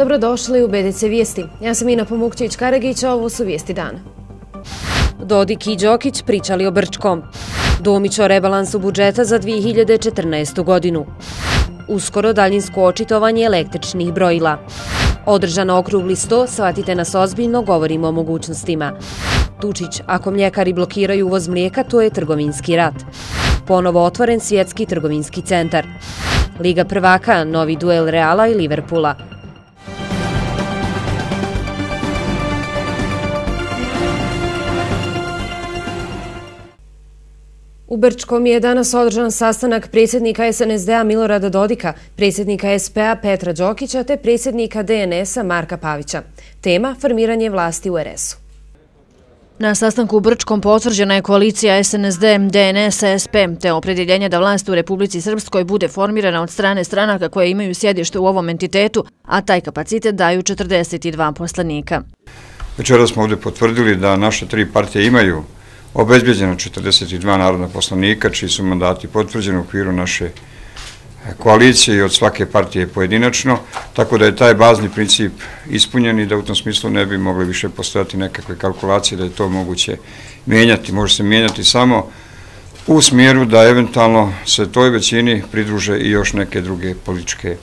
Dobrodošli u BDC Vijesti. Ja sam Ina Pomukćević-Karagić, a ovo su vijesti dana. Dodik i Đokić pričali o Brčkom. Domić o rebalansu budžeta za 2014. godinu. Uskoro daljinsko očitovanje električnih brojila. Održano okrugli sto, shvatite nas ozbiljno, govorimo o mogućnostima. Tučić, ako mljekari blokiraju uvoz mlijeka, to je trgovinski rat. Ponovo otvoren svjetski trgovinski centar. Liga prvaka, novi duel Reala i Liverpoola. U Brčkom je danas održan sastanak predsjednika SNSD-a Milorada Dodika, predsjednika SP-a Petra Đokića te predsjednika DNS-a Marka Pavića. Tema – formiranje vlasti u RS-u. Na sastanku u Brčkom potvrđena je koalicija SNSD, DNS, SP, te opredjeljenje da vlast u Republici Srpskoj bude formirana od strane stranaka koje imaju sjedište u ovom entitetu, a taj kapacitet daju 42 poslanika. Večera smo ovdje potvrdili da naše tri partije imaju obezbeđeno 42 narodna poslanika, čiji su mandati potvrđeni u okviru naše koalicije i od svake partije pojedinačno, tako da je taj bazni princip ispunjen i da u tom smislu ne bi mogli više postojati nekakve kalkulacije da je to moguće mijenjati. Može se mijenjati samo u smjeru da eventualno se toj većini pridruže i još neke druge političke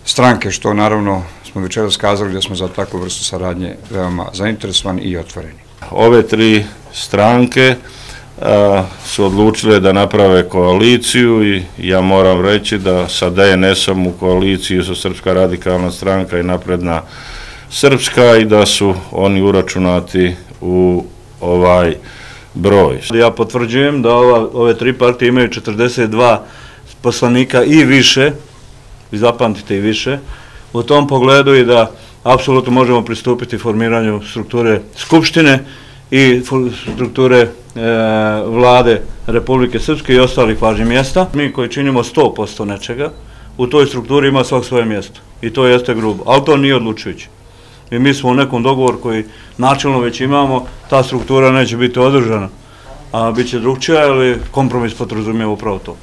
stranke, što naravno smo večeras skazali da smo za takvu vrstu saradnje veoma zainteresovani i otvoreni. Ove tri stranke su odlučile da naprave koaliciju i ja moram reći da sa DNS-om u koaliciji su Srpska radikalna stranka i Napredna Srpska i da su oni uračunati u ovaj broj. Ja potvrđujem da ove tri partije imaju 42 poslanika i više, vi zapamtite i više, u tom pogledu i da apsolutno možemo pristupiti formiranju strukture Skupštine i strukture vlade Republike Srpske i ostalih važnih mjesta. Mi koji činimo 100% nečega, u toj strukturi ima svak svoje mjesto i to jeste grubo, ali to nije odlučujuće. I mi smo u nekom dogovoru koji načelno već imamo, ta struktura neće biti održana, a bit će drugčija, ali kompromis podrazumijeva upravo to.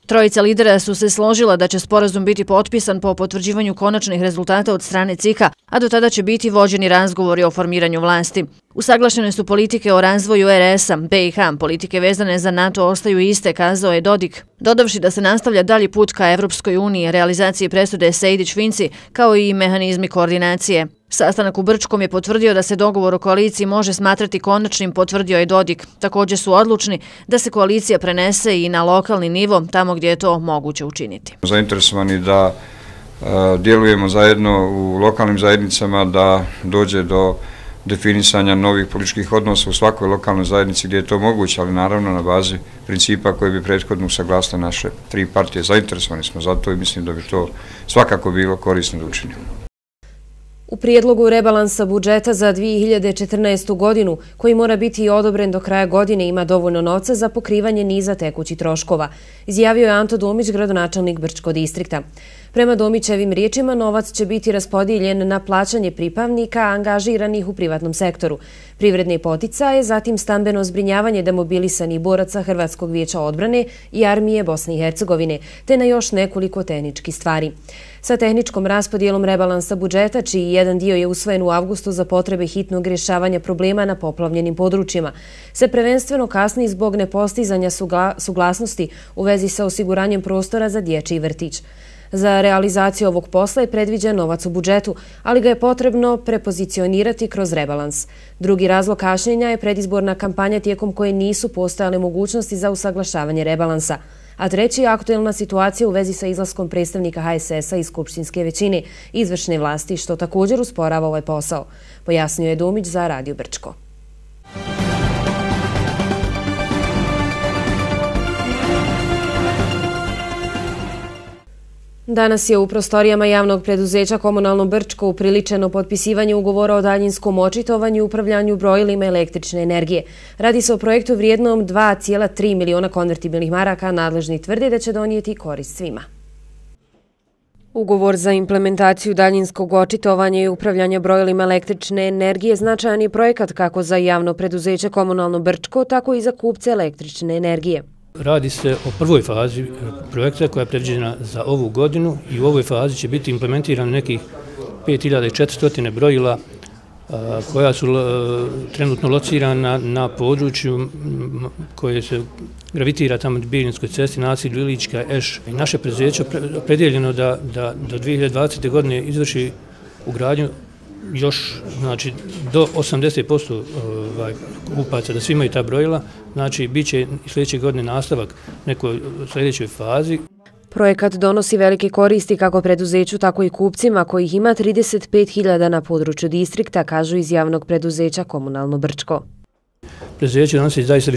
Trojica lidera su se složila da će sporazum biti potpisan po potvrđivanju konačnih rezultata od strane CIK-a, a do tada će biti vođeni razgovori o formiranju vlasti. Usaglašene su politike o razvoju RS-a, BiH, politike vezane za NATO ostaju iste, kazao je Dodik, dodavši da se nastavlja dalji put ka Evropskoj uniji, realizaciji presude Sejdić-Finci, kao i mehanizmi koordinacije. Sastanak u Brčkom je potvrdio da se dogovor o koaliciji može smatrati konačnim, potvrdio je Dodik. Također su odlučni da se koalicija prenese i na lokalni nivo, tamo gdje je to moguće učiniti. Zainteresovani da djelujemo zajedno u lokalnim zajednicama, da dođe do definisanja novih političkih odnosa u svakoj lokalnoj zajednici gdje je to moguće, ali naravno na bazi principa koje bi prethodno usaglasile naše tri partije. Zainteresovani smo za to i mislim da bi to svakako bilo korisno da učinimo. U prijedlogu rebalansa budžeta za 2014. godinu, koji mora biti odobren do kraja godine, ima dovoljno novca za pokrivanje niza tekućih troškova, izjavio je Anto Domić, gradonačelnik Brčkog distrikta. Prema Domićevim riječima, novac će biti raspodijeljen na plaćanje pripravnika angažiranih u privatnom sektoru, privredne poticaje, zatim stambeno zbrinjavanje demobilisanih boraca Hrvatskog vijeća odbrane i armije Bosne i Hercegovine, te na još nekoliko tehničkih stvari. Sa tehničkom raspodijelom rebalansa budžeta, čiji jedan dio je usvojen u avgustu za potrebe hitnog rješavanja problema na poplavljenim područjima, se prvenstveno kasni zbog nepostizanja suglasnosti u vezi sa osiguranjem prostora za dječji vrtić. Za realizaciju ovog posla je predviđen novac u budžetu, ali ga je potrebno prepozicionirati kroz rebalans. Drugi razlog kašnjenja je predizborna kampanja tijekom koje nisu postojale mogućnosti za usaglašavanje rebalansa. A treći je aktuelna situacija u vezi sa izlaskom predstavnika HSS-a iz skupštinske većine izvršne vlasti, što također usporava ovaj posao, pojasnio je Domić za Radio Brčko. Danas je u prostorijama javnog preduzeća Komunalno Brčko upriličeno potpisivanje ugovora o daljinskom očitovanju i upravljanju brojilima električne energije. Radi se o projektu vrijednom 2,3 miliona konvertibilnih maraka, nadležni tvrde da će donijeti korist svima. Ugovor za implementaciju daljinskog očitovanja i upravljanja brojilima električne energije značajan je projekat kako za javno preduzeće Komunalno Brčko, tako i za kupce električne energije. Radi se o prvoj fazi projekta koja je predviđena za ovu godinu i u ovoj fazi će biti implementirano nekih 5400 brojila koja su trenutno locirana na području koje se gravitira tamo Bijeljinskoj cesti, naselju Ilička, Eš. I naše preduzeće je opredjeljeno da do 2020. godine izvrši ugradnju još, znači, do 80% kupaca, da svi imaju ta brojila, znači, bit će sljedeće godine nastavak nekoj sljedećoj fazi. Projekat donosi velike koristi kako preduzeću, tako i kupcima, kojih ima 35.000 na području distrikta, kažu iz javnog preduzeća Komunalno Brčko. Preduzeće donosi zaista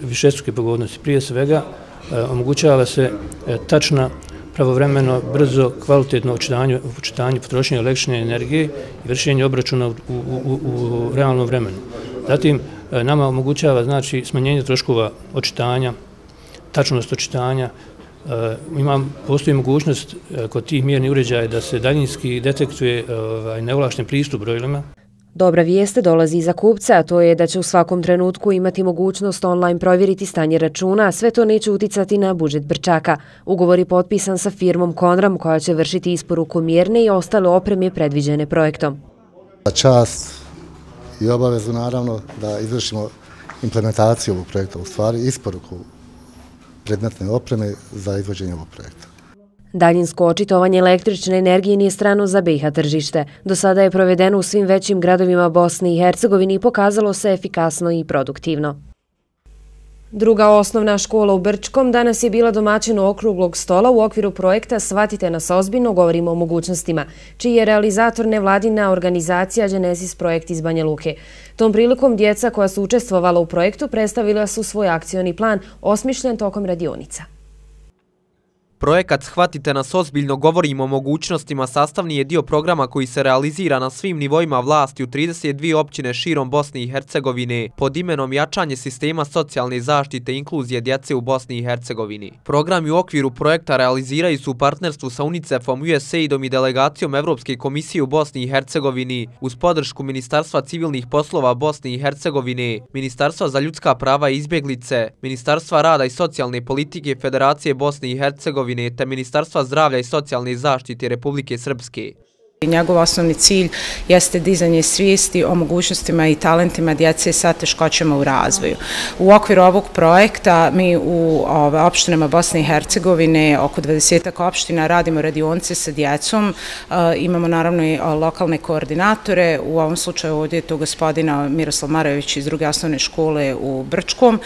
višestruke pogodnosti. Prije svega omogućava se tačna, pravovremeno, brzo, kvalitetno očitanje potrošnje električne energije i vršenje obračuna u realnom vremenu. Zatim, nama omogućava, znači, smanjenje troškova očitanja, tačnost očitanja. Postoji mogućnost kod tih mjernih uređaja da se daljinski detektuje neovlašten pristup brojilima. Dobra vijest dolazi iza kupca, a to je da će u svakom trenutku imati mogućnost online provjeriti stanje računa, a sve to neće uticati na budžet Brčaka. Ugovor je potpisan sa firmom Konram, koja će vršiti isporuku mjerne i ostale opreme predviđene projektom. Čast i obavezu, naravno, da izvršimo implementaciju ovog projekta, u stvari isporuku predmetne opreme za izvođenje ovog projekta. Daljinsko očitovanje električne energije nije strano za BiH tržište. Do sada je provedeno u svim većim gradovima Bosne i Hercegovine i pokazalo se efikasno i produktivno. Druga osnovna škola u Brčkom danas je bila domaćin okruglog stola u okviru projekta Shvatite nas ozbiljno, govorimo o mogućnostima, čiji je realizator nevladina organizacija Genesis projekt iz Banja Luke. Tom prilikom djeca koja su učestvovala u projektu predstavila su svoj akcioni plan osmišljen tokom radionica. Projekat Shvatite nas ozbiljno, govorimo o mogućnostima sastavni je dio programa koji se realizira na svim nivoima vlasti u 32 općine širom Bosne i Hercegovine pod imenom Jačanje sistema socijalne zaštite i inkluzije djece u Bosni i Hercegovini. Programi u okviru projekta realiziraju su u partnerstvu sa UNICEF-om, USAID-om i delegacijom Evropske komisije u Bosni i Hercegovini uz podršku Ministarstva civilnih poslova Bosne i Hercegovine, Ministarstva za ljudska prava i izbjeglice, Ministarstva rada i socijalne politike Federacije Bosne i Hercegovine te Ministarstva zdravlja i socijalne zaštite Republike Srpske. Njegov osnovni cilj jeste dizanje svijesti o mogućnostima i talentima djece sa teškoćama u razvoju. U okviru ovog projekta mi u opštinama Bosne i Hercegovine, oko 20 opština, radimo radionice sa djecom. Imamo naravno i lokalne koordinatore. U ovom slučaju ovdje je to gospodina Miroslav Marajević iz druge osnovne škole u Brčkom,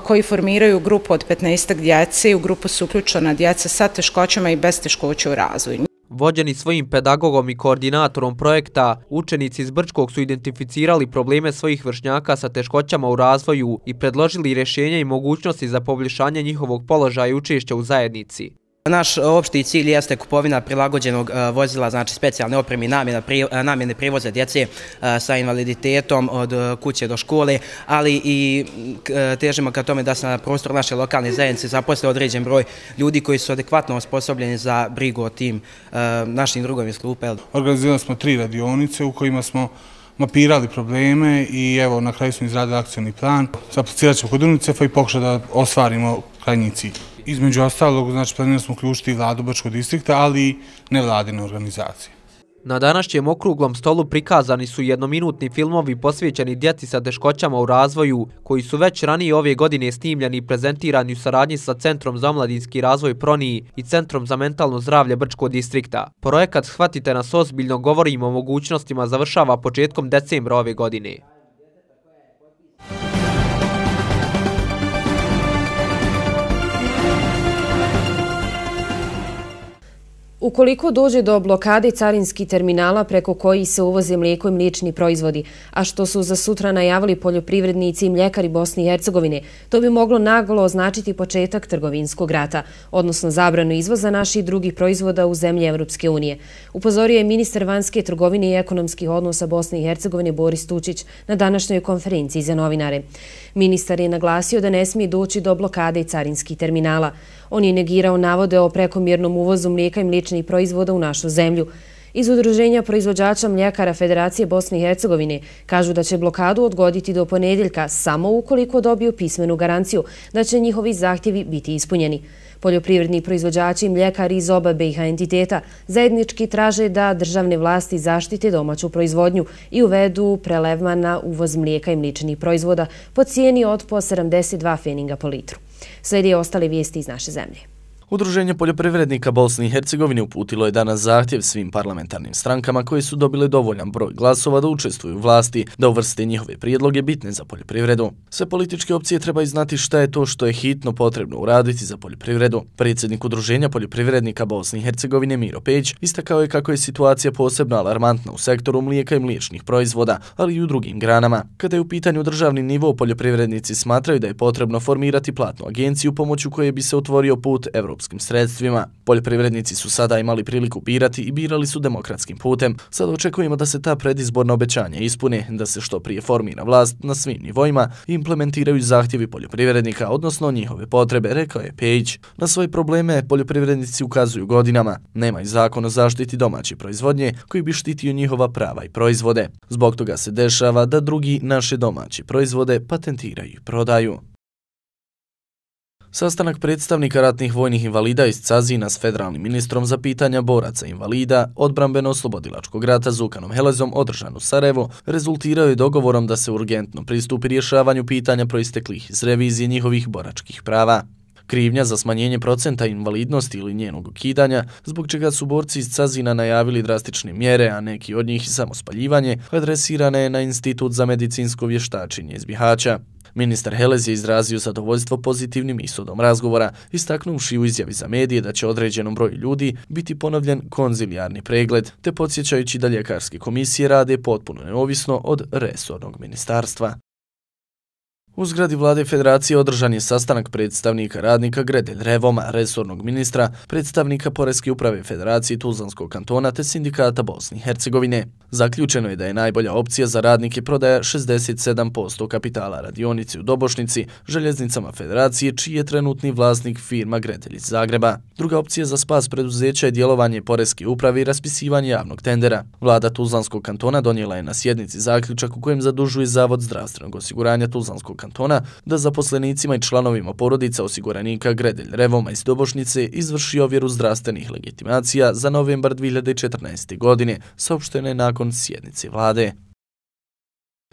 koji formiraju grupu od 15 djece. U grupu su uključena djeca sa teškoćama i bez teškoća u razvoju. Vođeni svojim pedagogom i koordinatorom projekta, učenici iz Brčkog su identificirali probleme svojih vršnjaka sa teškoćama u razvoju i predložili rješenja i mogućnosti za poboljšanje njihovog položaja i učešća u zajednici. Naš opšti cilj jeste kupovina prilagođenog vozila, znači specijalne opreme i namjene prijevoza djece sa invaliditetom od kuće do škole, ali i težimo ka tome da se na prostoru naše lokalne zajednice zaposle određen broj ljudi koji su adekvatno osposobljeni za brigu o tim našim drugovima iz klupe. Organizirali smo 3 radionice u kojima smo mapirali probleme i evo na kraju smo izradili akcioni plan. Aplicirat ćemo kod UNICEF-a i pokušati da ostvarimo krajnji cilj. Između ostalog, znači, planirali smo uključiti vladu Brčkog distrikta, ali i nevladine organizacije. Na današnjem okruglom stolu prikazani su jednominutni filmovi posvećeni djeci sa teškoćama u razvoju, koji su već ranije ove godine snimljeni i prezentirani u saradnji sa Centrom za omladinski razvoj Proniji i Centrom za mentalno zdravlje Brčkog distrikta. Projekat Shvatite nas ozbiljno, govorimo o mogućnostima, završava početkom decembra ove godine. Ukoliko dođe do blokade carinskih terminala preko kojih se uvoze mlijeko i mliječni proizvodi, a što su za sutra najavili poljoprivrednici i mljekari Bosne i Hercegovine, to bi moglo naglo označiti početak trgovinskog rata, odnosno zabranu izvoza naših drugih proizvoda u zemlje Evropske unije. Upozorio je ministar vanjske trgovine i ekonomskih odnosa Bosne i Hercegovine Boris Tučić na današnjoj konferenciji za novinare. Ministar je naglasio da ne smije doći do blokade carinskih terminala. On je negirao navode o prekomjernom uvozu mlijeka i mliječnih proizvoda u našu zemlju. Iz Udruženja proizvođača mljekara Federacije Bosne i Hercegovine kažu da će blokadu odgoditi do ponedjeljka samo ukoliko dobiju pismenu garanciju da će njihovi zahtjevi biti ispunjeni. Poljoprivredni proizvođači i mljekari iz oba BiH entiteta zajednički traže da državne vlasti zaštite domaću proizvodnju i uvedu prelevman na uvoz mlijeka i mliječnih proizvoda po cijeni od po 72 feninga po litru. Slijedi ostale vijesti iz naše zemlje. Udruženje poljoprivrednika Bosne i Hercegovine uputilo je danas zahtjev svim parlamentarnim strankama koje su dobile dovoljan broj glasova da učestvuju u vlasti, da uvrste njihove prijedloge bitne za poljoprivredu. Sve političke opcije trebaju znati šta je to što je hitno potrebno uraditi za poljoprivredu. Predsjednik Udruženja poljoprivrednika Bosne i Hercegovine Miro Pejić istakao je kako je situacija posebno alarmantna u sektoru mlijeka i mliječnih proizvoda, ali i u drugim granama. Kada je u pitanju državni nivo, poljoprivrednici smatraju da je potrebno formirati platnu agenciju pomoću koje bi se otvorio put europskim sredstvima. Poljoprivrednici su sada imali priliku birati i birali su demokratskim putem. Sada očekujemo da se ta predizborna obećanja ispune, da se što prije formira vlast na svim nivoima i implementiraju zahtjevi poljoprivrednika, odnosno njihove potrebe, rekao je Pejić. Na svoje probleme poljoprivrednici ukazuju godinama. Nema i zakon o zaštiti domaće proizvodnje koji bi štitio njihova prava i proizvode. Zbog toga se dešava da drugi naše domaće proizvode patentiraju i prodaju. Sastanak predstavnika ratnih vojnih invalida iz Cazina s federalnim ministrom za pitanja boraca invalida odbrambeno-oslobodilačkog rata Zukanom Helezom održan u Sarajevu rezultirao je dogovorom da se urgentno pristupi rješavanju pitanja proisteklih iz revizije njihovih boračkih prava. Krivnja za smanjenje procenta invalidnosti ili njenog ukidanja, zbog čega su borci iz Cazina najavili drastične mjere, a neki od njih i samospaljivanje, adresirane je na Institut za medicinsko vještačenje iz Bihaća. Ministar Helez je izrazio zadovoljstvo pozitivnim ishodom razgovora, istaknuvši u izjavi za medije da će određenom broju ljudi biti ponovljen konzilijarni pregled, te podsjećajući da ljekarske komisije rade potpuno neovisno od resornog ministarstva. U zgradi vlade Federacije održan je sastanak predstavnika radnika Gredelj Revoma, resornog ministra, predstavnika Poreske uprave Federacije Tuzlanskog kantona te sindikata Bosne i Hercegovine. Zaključeno je da je najbolja opcija za radnike prodaja 67% kapitala radionici u Dobošnici, željeznicama Federacije, čiji je trenutni vlasnik firma Gredelj iz Zagreba. Druga opcija za spas preduzeća je djelovanje Poreske uprave i raspisivanje javnog tendera. Vlada Tuzlanskog kantona donijela je na sjednici zaključak u kojem zadužuje Zavod zdravstvenog osiguranja Tuzlanskog kantona da zaposlenicima i članovima porodica osiguranika Gredelj Revoma iz Dobošnice izvrši ovjeru zdravstvenih legitimacija za novembar 2014. godine, saopštene nakon sjednice vlade.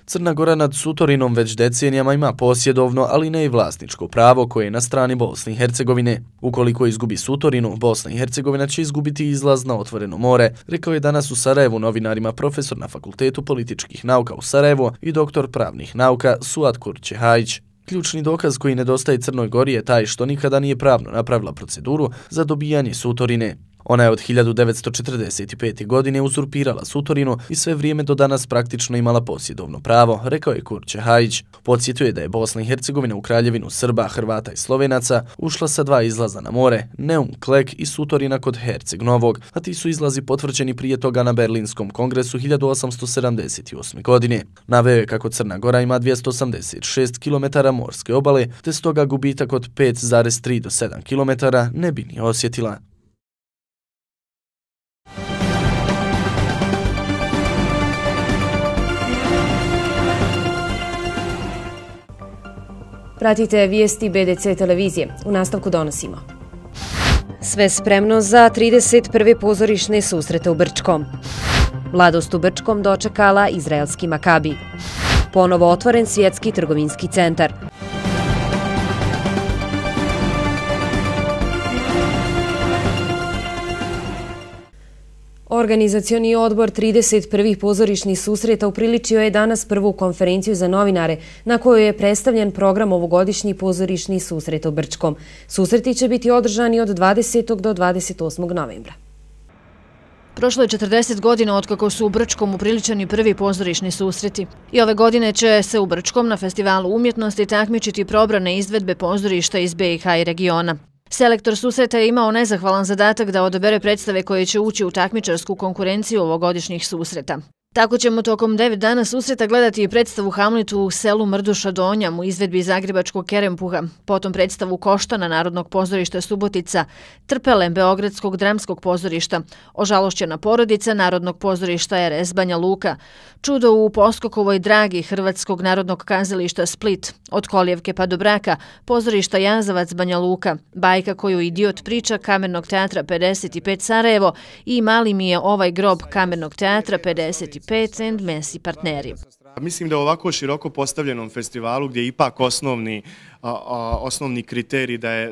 Crna Gora nad Sutorinom već decenijama ima posjedovno, ali ne i vlasničko pravo koje je na strani Bosne i Hercegovine. Ukoliko izgubi Sutorinu, Bosna i Hercegovina će izgubiti izlaz na otvoreno more, rekao je danas u Sarajevu novinarima profesor na Fakultetu političkih nauka u Sarajevu i doktor pravnih nauka Suad Kurčehajić. Ključni dokaz koji nedostaje Crnoj Gori je taj što nikada nije pravno napravila proceduru za dobijanje Sutorine. Ona je od 1945. godine uzurpirala Sutorinu i sve vrijeme do danas praktično imala posjedovno pravo, rekao je Kurčehajić. Podsjetio je da je Bosna i Hercegovina u kraljevinu Srba, Hrvata i Slovenaca ušla sa 2 izlaza na more, Neum Klek i Sutorina kod Herceg Novog, a ti su izlazi potvrđeni prije toga na Berlinskom kongresu 1878. godine. Naveo je kako Crna Gora ima 286 km morske obale, te stoga gubitak od 5,3 do 7 km ne bi ni osjetila. Pratite vijesti BDC televizije. U nastavku donosimo. Sve spremno za 31. pozorišne susrete u Brčkom. Mladost u Brčkom dočekala izraelski Makabi. Ponovo otvoren svjetski trgovinski centar. Organizacioni odbor 31. pozorišnih susreta upriličio je danas prvu konferenciju za novinare na kojoj je predstavljen program ovogodišnjih pozorišnih susreta u Brčkom. Susreti će biti održani od 20. do 28. novembra. Prošlo je 40 godina otkako su u Brčkom upriličeni prvi pozorišni susreti. I ove godine će se u Brčkom na Festivalu umjetnosti takmičiti probrane izvedbe pozorišta iz BiH i regiona. Selektor susreta je imao nezahvalan zadatak da odabere predstave koje će ući u takmičarsku konkurenciju ovogodišnjih susreta. Tako ćemo tokom 9 dana susreta gledati i predstavu Hamletu u selu Mrduša Donjam u izvedbi zagrebačkog Kerempuha, potom predstavu Koštana Narodnog pozorišta Subotica, Trpele Beogradskog dramskog pozorišta, Ožalošćena porodica Narodnog pozorišta RS Banja Luka, Čudo u Poskokovoj dragi Hrvatskog narodnog kazališta Split, Od kolijevke pa do braka, pozorišta Jazavac Banja Luka, Bajka koju idiot priča Kamernog teatra 55 Sarajevo i Mali mi je ovaj grob Kamernog teatra 55 and Messi partneri. Mislim da u ovako široko postavljenom festivalu gdje je ipak osnovni kriterij da je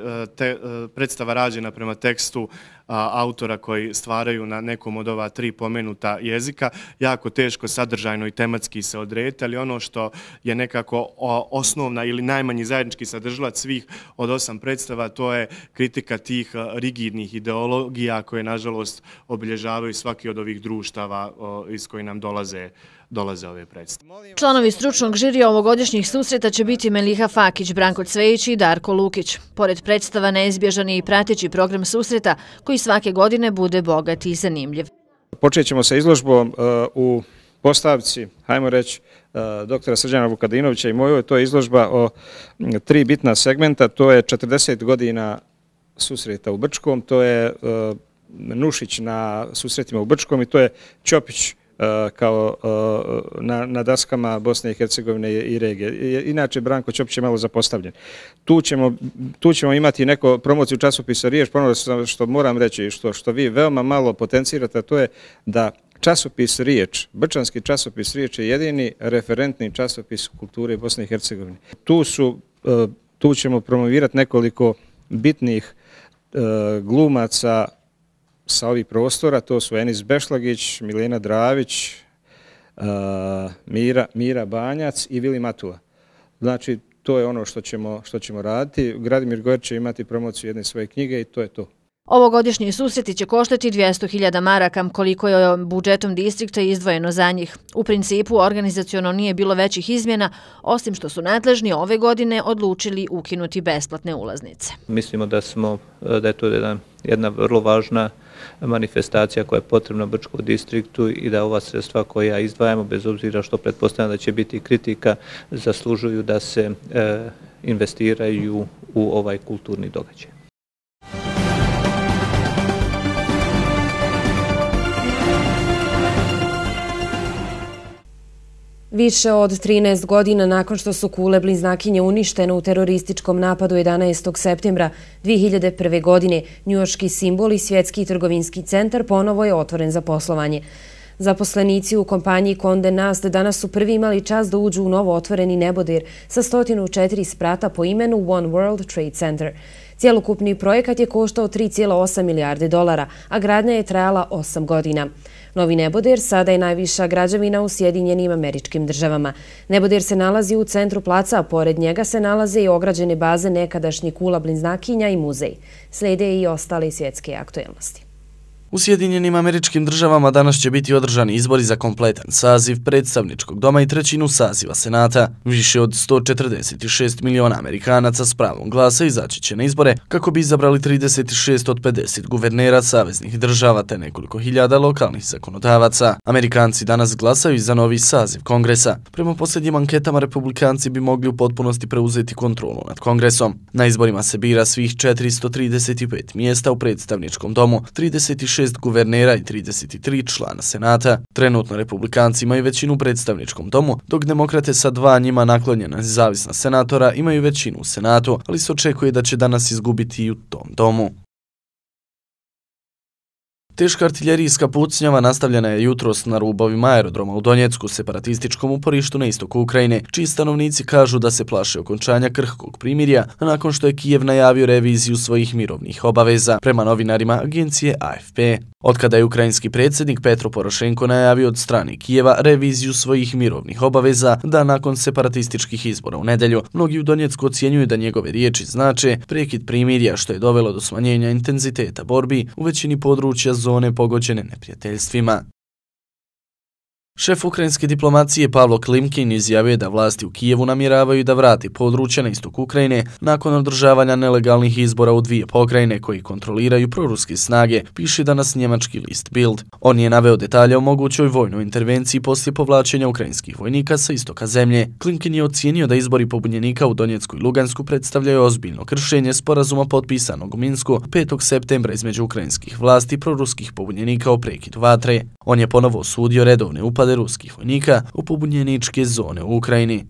predstava rađena prema tekstu autora koji stvaraju na nekom od ova 3 pomenuta jezika, jako teško sadržajno i tematski se odrediti, ali ono što je nekako osnovna ili najmanji zajednički sadržalac svih od 8 predstava, to je kritika tih rigidnih ideologija koje nažalost obilježavaju svaki od ovih društava iz koji nam dolaze ove predstave. Članovi stručnog žirija ovogodišnjih susreta će biti Meliha Fakić, Branko Cvejić i Darko Lukić. Pored predstava neizbježan je i prateći program susreta koji svake godine bude bogat i zanimljiv. Počet ćemo sa izložbom u postavci, hajmo reći, doktora Srđana Vukadinovića i mojoj. To je izložba o 3 bitna segmenta. To je 40 godina susreta u Brčkom, to je Nušić na susretima u Brčkom i to je Ćopić kao na daskama Bosne i Hercegovine i regije. Inače, Branko Ćopić je malo zapostavljen. Tu ćemo imati neko promociju časopisa Riječ, ponovno što moram reći, što vi veoma malo potencirate, to je da časopis Riječ, brčanski časopis Riječ je jedini referentni časopis kulture Bosne i Hercegovine. Tu ćemo promovirati nekoliko bitnih glumaca sa ovih prostora, to su Enis Bešlagić, Milena Dravić, Mira Banjac i Vili Matula. Znači, to je ono što ćemo raditi. Gradimir Gojer će imati promociju jedne svoje knjige i to je to. Ovogodišnji susreti će koštati 200.000 maraka, koliko je budžetom distrikta izdvojeno za njih. U principu, organizaciono nije bilo većih izmjena, osim što su nadležni ove godine odlučili ukinuti besplatne ulaznice. Mislimo da je to jedna vrlo važna manifestacija koja je potrebna Brčkom distriktu i da ova sredstva koja izdvajamo, bez obzira što pretpostavljam da će biti kritika, zaslužuju da se investiraju u ovaj kulturni događaj. Više od 13 godina nakon što su kule bliznakinje uništene u terorističkom napadu 11. septembra 2001. godine, njujorški simbol i svjetski trgovinski centar ponovo je otvoren za poslovanje. Zaposlenici u kompaniji Condé Nast danas su prvi imali čast da uđu u novo otvoreni neboder sa 104 sprata po imenu One World Trade Center. Cijelokupni projekat je koštao $3,8 milijarde, a gradnja je trajala 8 godina. Novi neboder sada je najviša građevina u Sjedinjenim Američkim Državama. Neboder se nalazi u centru placa, a pored njega se nalaze i ograđene baze nekadašnjih kula bliznakinja i muzej. Slijede i ostale svjetske aktuelnosti. U Sjedinjenim Američkim Državama danas će biti održani izbori za kompletan saziv predstavničkog doma i 1/3 saziva Senata. Više od 146 miliona Amerikanaca s pravom glasa izaći će na izbore kako bi izabrali 36 od 50 guvernera saveznih država te nekoliko hiljada lokalnih zakonodavaca. Amerikanci danas glasaju za novi saziv Kongresa. Prema posljednjim anketama, republikanci bi mogli u potpunosti preuzeti kontrolu nad Kongresom. Na izborima se bira svih 435 mjesta u predstavničkom domu, 36 guvernera i 33 člana Senata. Trenutno republikanci imaju većinu u predstavničkom domu, dok demokrate sa 2 njima naklonjena nezavisna senatora imaju većinu u Senatu, ali se očekuje da će danas izgubiti i u tom domu. Teška artiljerijska pucnjava nastavljena je jutros na rubovima aerodroma u Donjecku, separatističkom uporištu na istoku Ukrajine, čiji stanovnici kažu da se plaše okončanja krhkog primirja, nakon što je Kijev najavio reviziju svojih mirovnih obaveza, prema novinarima agencije AFP. Otkada je ukrajinski predsjednik Petro Porošenko najavio od strane Kijeva reviziju svojih mirovnih obaveza, da nakon separatističkih izbora u nedelju, mnogi u Donjecku ocjenjuju da njegove riječi znače prekid primirja, što je dovelo do smanjenja intenziteta borbi u većini područja zone pogođene neprijateljstvima. Šef ukrajinske diplomacije Pavlo Klimkin izjavio da vlasti u Kijevu namjeravaju da vrati područje na istok Ukrajine nakon održavanja nelegalnih izbora u dvije pokrajine koji kontroliraju proruske snage, piše danas njemački list Bild. On je naveo detalje o mogućoj vojnoj intervenciji poslije povlačenja ukrajinskih vojnika sa istoka zemlje. Klimkin je ocijenio da izbori pobunjenika u Donjecku i Lugansku predstavljaju ozbiljno kršenje sporazuma potpisanog u Minsku 5. septembra između ukrajinskih vlasti i proruskih pobunjenika o prekidu vatre. On je ponovo osudio redovne upade ruskih vojnika u pobunjeničke zone u Ukrajini.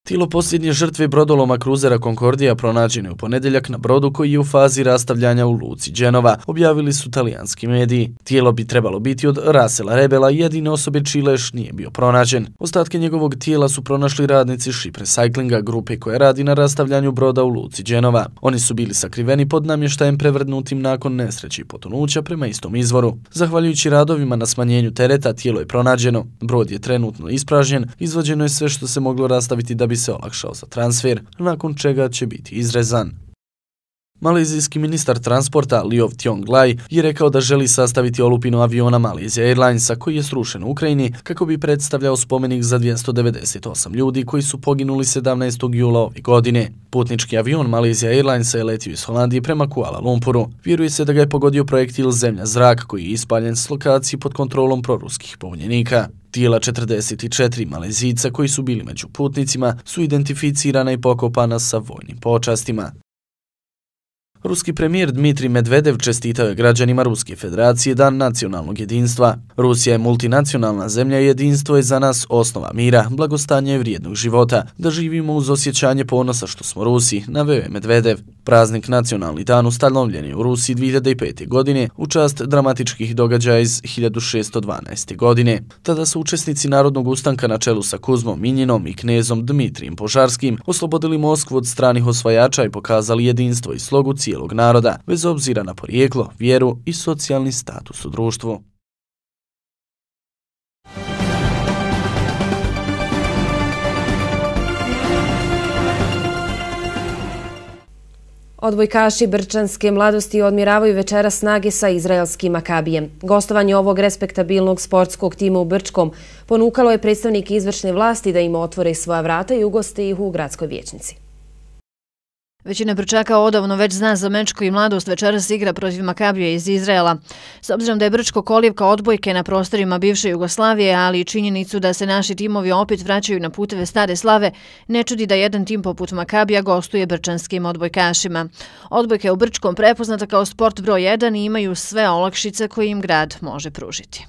Tijelo posljednje žrtve brodoloma kruzera Concordija pronađeno je u ponedjeljak na brodu koji je u fazi rastavljanja u luci Genova, objavili su talijanski mediji. Tijelo bi trebalo biti od Rasela Rebela, jedine osobe čiji leš nije bio pronađen. Ostatke njegovog tijela su pronašli radnici Ship Recyclinga, grupe koja radi na rastavljanju broda u luci Genova. Oni su bili sakriveni pod namještajem prevrnutim nakon nesreće i potonuća prema istom izvoru. Zahvaljujući radovima na smanjenju tereta, tijelo je pronađeno. Brod je trenutno ispražnjen, izvađeno je sve što se moglo rastaviti da bi se olakšao za transfer, nakon čega će biti izrezan. Malezijski ministar transporta Liov Tiong Lai je rekao da želi sastaviti olupinu aviona Malaysia Airlinesa koji je srušen u Ukrajini kako bi predstavljao spomenik za 298 ljudi koji su poginuli 17. jula ove godine. Putnički avion Malaysia Airlinesa je letio iz Holandije prema Kuala Lumpuru. Vjeruje se da ga je pogodio projektil zemlja-zrak koji je ispaljen s lokacije pod kontrolom proruskih pobunjenika. Tijela 44 Malezijica koji su bili među putnicima su identificirana i pokopana sa vojnim počastima. Ruski premijer Dmitrij Medvedev čestitao je građanima Ruske federacije Dan nacionalnog jedinstva. Rusija je multinacionalna zemlja i jedinstvo je za nas osnova mira, blagostanja i vrijednog života, da živimo uz osjećanje ponosa što smo Rusi, naveo je Medvedev. Praznik Nacionalni dan ustanovljen je u Rusiji 2005. godine u čast dramatičkih događaja iz 1612. godine. Tada su učesnici Narodnog ustanka na čelu sa Kuzmom Minjinom i knezom Dmitrijem Požarskim oslobodili Moskvu od stranih osvajača i pokazali jedinstvo i slogu cijelog naroda, bez obzira na porijeklo, vjeru i socijalni status u društvu. Odbojkaši Brčanske mladosti odmjeravaju večera snage sa izraelskim Makabijem. Gostovanje ovog respektabilnog sportskog tima u Brčkom ponukalo je predstavnike izvršne vlasti da im otvore svoja vrata i ugoste ih u gradskoj vijećnici. Većina Brčaka odavno već zna za meč koji mladost večeras igra protiv Makabija iz Izraela. S obzirom da je Brčko kolijevka odbojke na prostorima bivše Jugoslavije, ali i činjenicu da se naši timovi opet vraćaju na puteve stare slave, ne čudi da jedan tim poput Makabija gostuje brčanskim odbojkašima. Odbojka je u Brčkom prepoznata kao sport broj 1 i imaju sve olakšice koje im grad može pružiti.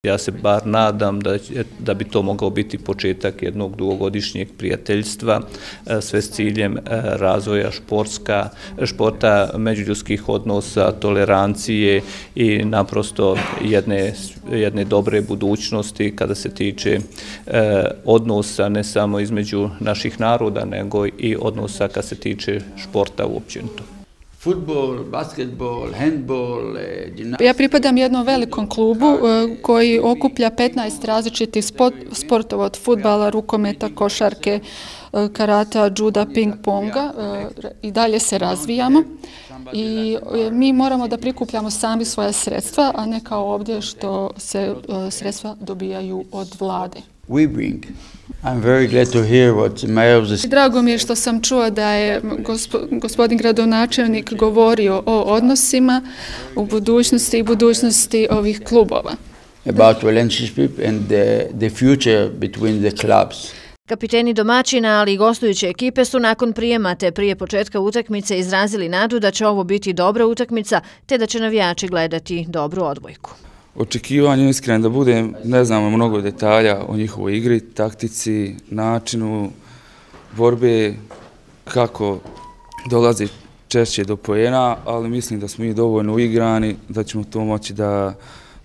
Ja se bar nadam da bi to mogao biti početak jednog dugogodišnjeg prijateljstva, sve s ciljem razvoja športa, međuljudskih odnosa, tolerancije i naprosto jedne dobre budućnosti kada se tiče odnosa ne samo između naših naroda, nego i odnosa kad se tiče športa uopćenito. Futbol, basketbol, handbol, gimnastika. Ja pripadam jednom velikom klubu koji okuplja 15 različitih sportova od fudbala, rukometa, košarke, karata, juda, ping-ponga i dalje se razvijamo. I mi moramo da prikupljamo sami svoje sredstva, a ne kao ovdje što se sredstva dobijaju od vlade. Drago mi je što sam čuo da je gospodin gradonačelnik govorio o odnosima u budućnosti i budućnosti ovih klubova. About relationship and the future between the clubs. Kapiteni domaćina, ali i gostujuće ekipe su nakon prijema te prije početka utakmice izrazili nadu da će ovo biti dobra utakmica te da će navijači gledati dobru odbojku. Očekivanje iskreno da budem, ne znamo mnogo detalja o njihovoj igri, taktici, načinu borbe, kako dolazi češće do poena, ali mislim da smo i dovoljno uigrani, da ćemo to moći da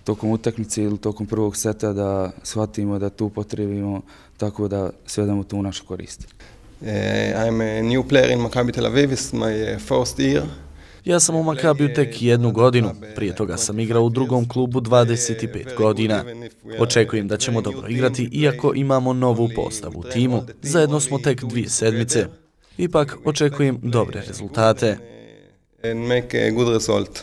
tokom utakmice ili tokom prvog seta da shvatimo da tu potrebimo tako da svedemo to u našu korist. I'm a new player in Maccabi Tel Aviv, it's my first year. Ja sam u Makabiju tek 1 godinu, prije toga sam igrao u drugom klubu 25 godina. Očekujem da ćemo dobro igrati, iako imamo novu postavu u timu. Zajedno smo tek 2 sedmice. Ipak očekujem dobre rezultate. And make a good result.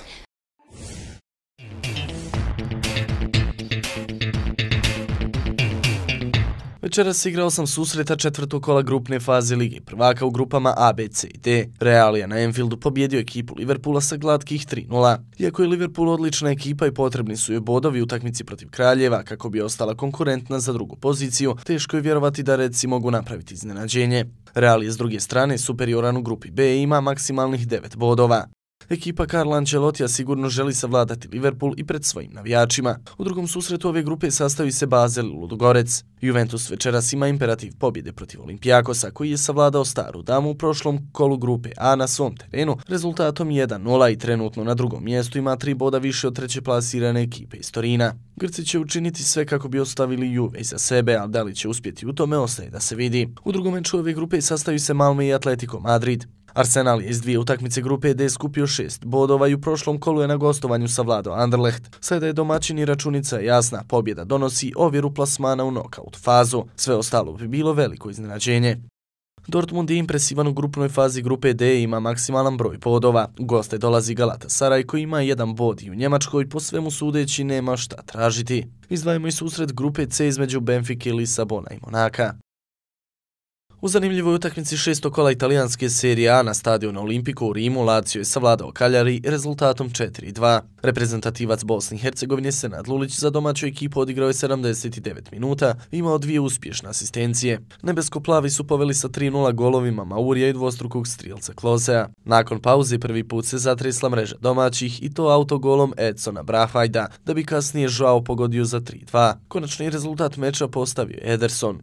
Večeras se igrao sam susreta četvrtog kola grupne faze Lige prvaka u grupama A, B, C i D. Real je na Anfieldu pobjedio ekipu Liverpoola sa glatkih 3:0. Iako je Liverpool odlična ekipa i potrebni su joj bodovi u utakmici protiv Kraljeva kako bi ostala konkurentna za drugu poziciju, teško je vjerovati da Redsi mogu napraviti iznenađenje. Real je s druge strane superioran u grupi B i ima maksimalnih 9 bodova. Ekipa Carlo Ancelotija sigurno želi savladati Liverpool i pred svojim navijačima. U drugom susretu ove grupe sastavi se Basel i Ludogorec. Juventus večeras ima imperativ pobjede protiv Olimpijakosa koji je savladao Staru Damu u prošlom kolu grupe A na svom terenu rezultatom 1:0 i trenutno na drugom mjestu ima 3 boda više od treće plasirane ekipe iz Torina. Grci će učiniti sve kako bi ostavili Juve iza sebe, ali da li će uspjeti u tome ostaje da se vidi. U drugom meču ove grupe sastavi se Malmö i Atletico Madrid. Arsenal je iz 2 utakmice grupe D skupio 6 bodova i u prošlom kolu je na gostovanju savladao Anderlecht. Sada je domaćin i računica jasna, pobjeda donosi ovjeru plasmana u nokaut fazu. Sve ostalo bi bilo veliko iznenađenje. Dortmund je impresivan u grupnoj fazi grupe D i ima maksimalan broj bodova. U goste dolazi Galatasaray koji ima 1 bod i u Njemačkoj po svemu sudeći nema šta tražiti. Izdvajamo i susret grupe C između Benfike, Lisabona i Monaka. U zanimljivoj utakmici 6. kola italijanske serije A na stadionu Olimpico u Rimu Lazio je savladao Cagliari rezultatom 4:2. Reprezentativac Bosne i Hercegovine Senad Lulić za domaću ekipu odigrao je 79 minuta i imao 2 uspješne asistencije. Nebesko-plavi su poveli sa 3:0 golovima Maurija i dvostrukog strijelca Klosea. Nakon pauze prvi put se zatresla mreža domaćih i to autogolom Edsona Brahvajda, da bi kasnije Joao pogodio za 3:2. Konačni rezultat meča postavio Ederson.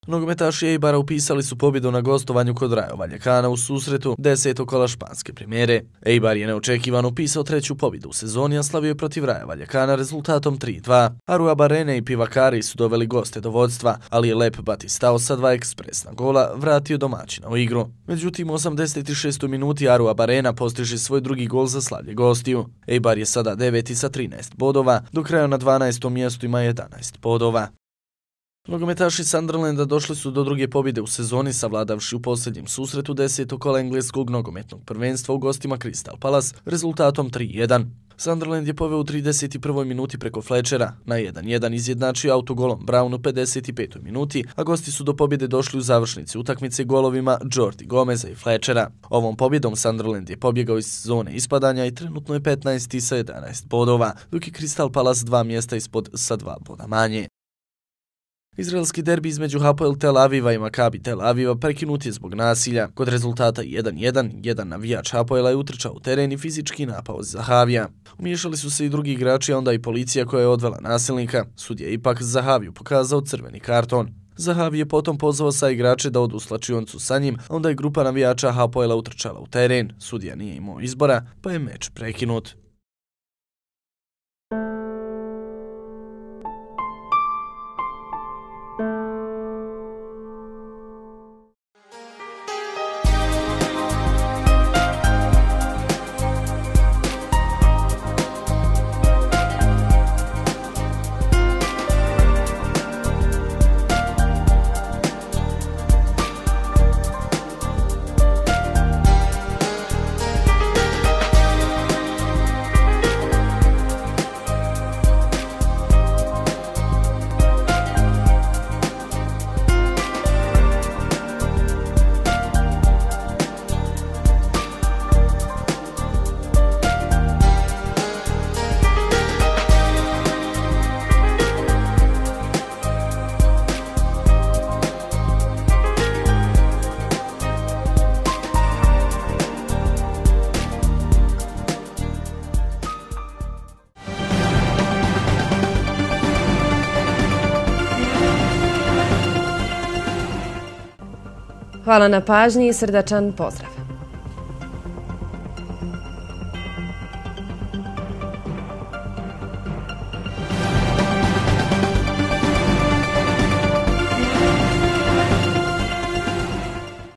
Nogometaši Eibara upisali su pobjedu na gostovanju kod Rayo Vallecana u susretu 10. kola španske premijere. Eibar je neočekivano upisao 3. pobjedu u sezoni, a slavio je protiv Rayo Vallecana rezultatom 3:2. Arruabarrena i Pivakari su doveli goste do vodstva, ali je Lep Batistao sa 2 ekspresna gola vratio domaćina u igru. Međutim, u 86. minuti Arruabarrena postiže svoj drugi gol za slavlje gostiju. Eibar je sada 9. sa 13 bodova, dok Rayo na 12. mjestu ima 11 bodova. Nogometaši Sunderlanda došli su do druge pobjede u sezoni savladavši u posljednjem susretu 10. kola engleskog nogometnog prvenstva u gostima Crystal Palace rezultatom 3:1. Sunderland je poveo u 31. minuti preko Fletchera, na 1:1 izjednačio autogolom Brown u 55. minuti, a gosti su do pobjede došli u završnici utakmice golovima Jordi Gomeza i Fletchera. Ovom pobjedom Sunderland je pobjegao iz zone ispadanja i trenutno je 15. sa 11 bodova, dok je Crystal Palace 2 mjesta ispod sa 2 boda manje. Izraelski derbi između Hapoel Tel Aviva i Maccabi Tel Aviva prekinut je zbog nasilja. Kod rezultata 1:1, jedan navijač Hapoela je utrčao u teren i fizički napao Zahavija. Umiješali su se i drugi igrači, a onda i policija koja je odvela nasilnika. Sudija ipak Zahaviju pokazao crveni karton. Zahavi je potom pozvao sa igrače da odu u slačioncu sa njim, a onda je grupa navijača Hapoela utrčala u teren. Sudija nije imao izbora, pa je meč prekinut. Hvala na pažnji i srdačan pozdrav!